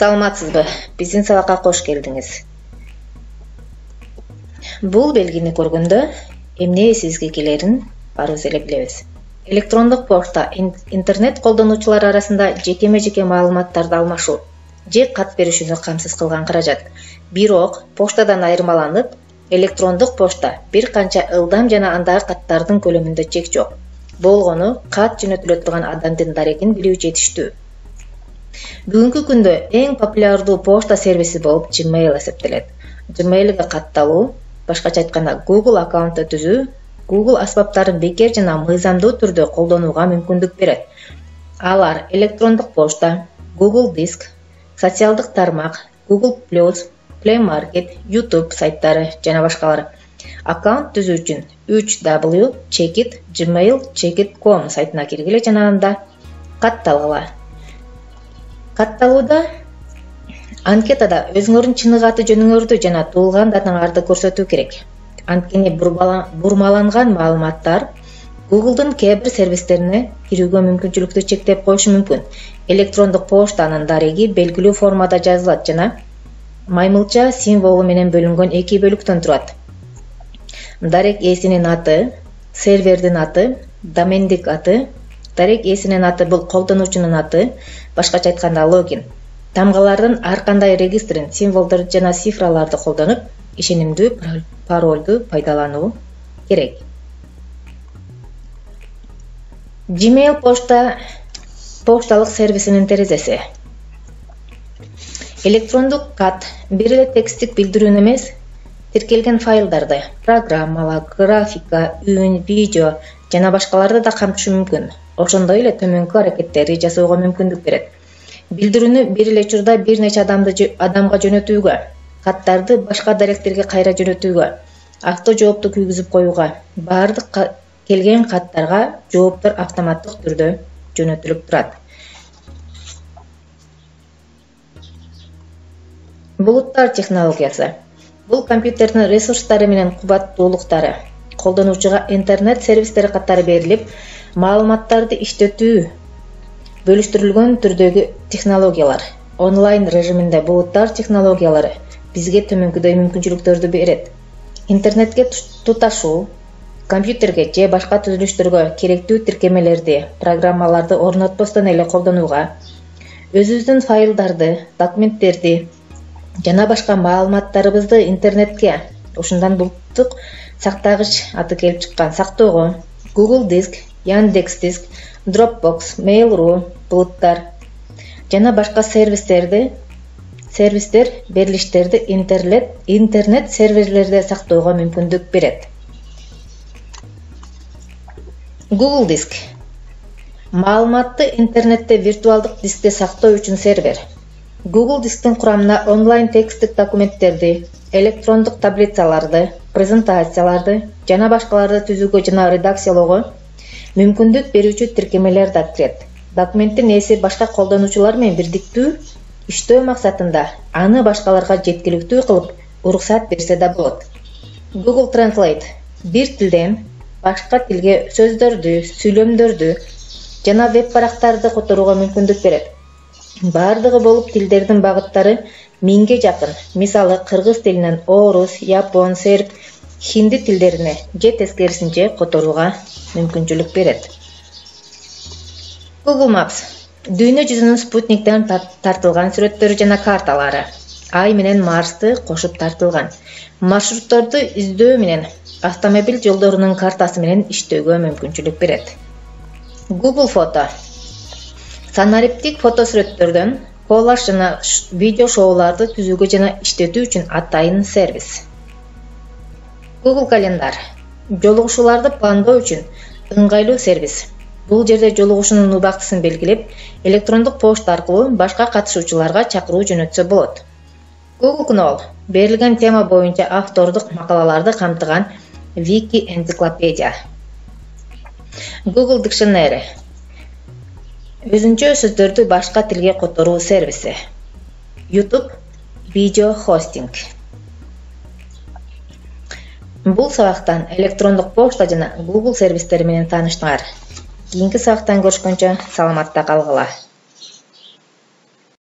Саламатсызбы? Биздин сабакка кош келдиңиз. Бул белгини көргөндө эмне эсибизге келерин баарыбыз эле билебиз. Электрондук почта интернет колдонуучулар арасында жекеме-жеке маалыматтарды алмашуу же кат беришүүнү камсыз кылган каражат. Бирок почтадан айырмаланып, электрондук почта бир канча ылдам жана андагы каттардын көлөмүндө чек жок. Болгону кат жөнөтүлө турган адамдын дарегин билүү жетиштүү. Бүгүнкү күндө эң популярдуу почта сервиси болуп Gmail эсептелет. Gmail'ге катталуу, башкача айтканда Google аккаунтты түзүү, Google аспаптарын бекер жана мыйзамдуу түрдө колдонууга мүмкүндүк берет. Алар электрондук почта, Google Диск, социалдык тармак, Google+, Play Market, YouTube сайттары жана башкалар. Аккаунт түзүү үчүн www.checkit.gmail.com сайтына киргиле жана анда катталгыла. Катталууда анкетада өзүңөрдүн чыныгы аты жөнүңөрдү жана туулган датаңарды көрсөтүү керек. Анткени бурмаланган маалыматтар Google'дун кээ бир сервистерине кирүүгө мүмкүнчүлүктү чектеп коюшу мүмкүн. Электрондук поштанын дареги белгилүү формада жазылат жана маймылча символу менен бөлүнгөн эки бөлүктөн турат. Дарек ээсинин аты, сервердин аты, домендик аты. Дарек ээсинин аты бул колдонуучунун аты, башкача айтканда логин. Тамгалардын ар кандай регистрин, символдорду жана цифраларды колдонуп, ишенимдүү паролду пайдалануу керек. Gmail пошталык сервисинин терезеси. Электрондук кат бир эле тексттик билдирүүнү эмес, тиркелген файлдарды, программалар, графика, үн, видео жана башкаларды да камтышы мүмкүн. Ошондой эле төмөнкү аракеттерди жасоого мүмкүндүк берет. Билдирүүнү бир эле учурда бир нече адамга жөнөтүүгө, каттарды башка даректерге кайра жөнөтүүгө, авто жоопту күйгүзүп коюуга, баардык келген каттарга жооптор автоматтык түрдө жөнөтүлүп турат. Булуттар технологиясы. Бул компьютердин ресурстары менен кубаттуулуктары колдонуучуга интернет сервистери катары берилип, маалыматтарды иштетүү бөлүштүрүлгөн түрдөгү технологиялар. Онлайн режиминде булуттар технологиялары бизге төмөнкүдөй мүмкүнчүлүктөрдү берет. Интернетке туташуу, компьютерге же башка түзүлүштөргө керектүү тиркемелерди, программаларды орнотпостон эле колдонууга, өзүбүздүн файлдарды, документтерди жана башка маалыматтарыбызды интернетке, ушундан булуттук сактагыч аты келип чыккан, сактоого Google Диск, Яндекс Диск, Dropbox, Mail.ru, булуттар жана башка сервистер берилиштерди интернет серверлерде сактоого мүмкүндүк берет. Google Диск маалыматты интернетте виртуалдык дискте сактоо үчүн сервер. Google Дисктин курамына онлайн тексттик документтерди, электрондук таблицаларды, презентацияларды жана башкаларды түзүүгө жана редакциялоого мүмкүндүк берүүчү тиркемелер да кирет. Документтин ээси башка колдонуучулар менен бирдиктүү иштөө максатында аны башкаларга жеткиликтүү кылып уруксат берсе да болот. Google Translate бир тилден башка тилге сөздөрдү, сүйлөмдөрдү жана веб-барактарды которууга мүмкүндүк берет. Бардыгы болуп тилдердин багыттары 1000ге жакын, мисалы кыргыз тилинен орус, япон, серб, хинди тилдерине же тескерисинче которууга мүмкүнчүлүк берет. Google Maps дүйнө жүзүнүн спутниктен тартылган сүрөттөрү жана карталары, Ай менен Марсты кошуп тартылган маршрутторду издөө менен автомобиль жолдорунун картасы менен иштөөгө мүмкүнчүлүк берет. Google Фото санариптик фотосүрөттөрдөн коллаж жана видео шоуларды түзүүгө жана иштетүү үчүн атайын сервис. Google Календар жолугушууларды пландоо үчүн ыңгайлуу сервис. Бул жерде жолугушуунун убактысын белгилеп, электрондук почта аркылуу башка катышуучуларга чакыруу жөнөтсө болот. Google Knoll берилген тема боюнча автордук макалаларды камтыган вики-энциклопедия. Google Dictionary өзүнчө сөздөрдү башка тилге которуу сервиси. YouTube видео хостинг. Бул сабактан электрондук почта жана Google сервистери менен тааныштыңар. Кийинки сабактан көрүшкөнчө саламатта калгыла.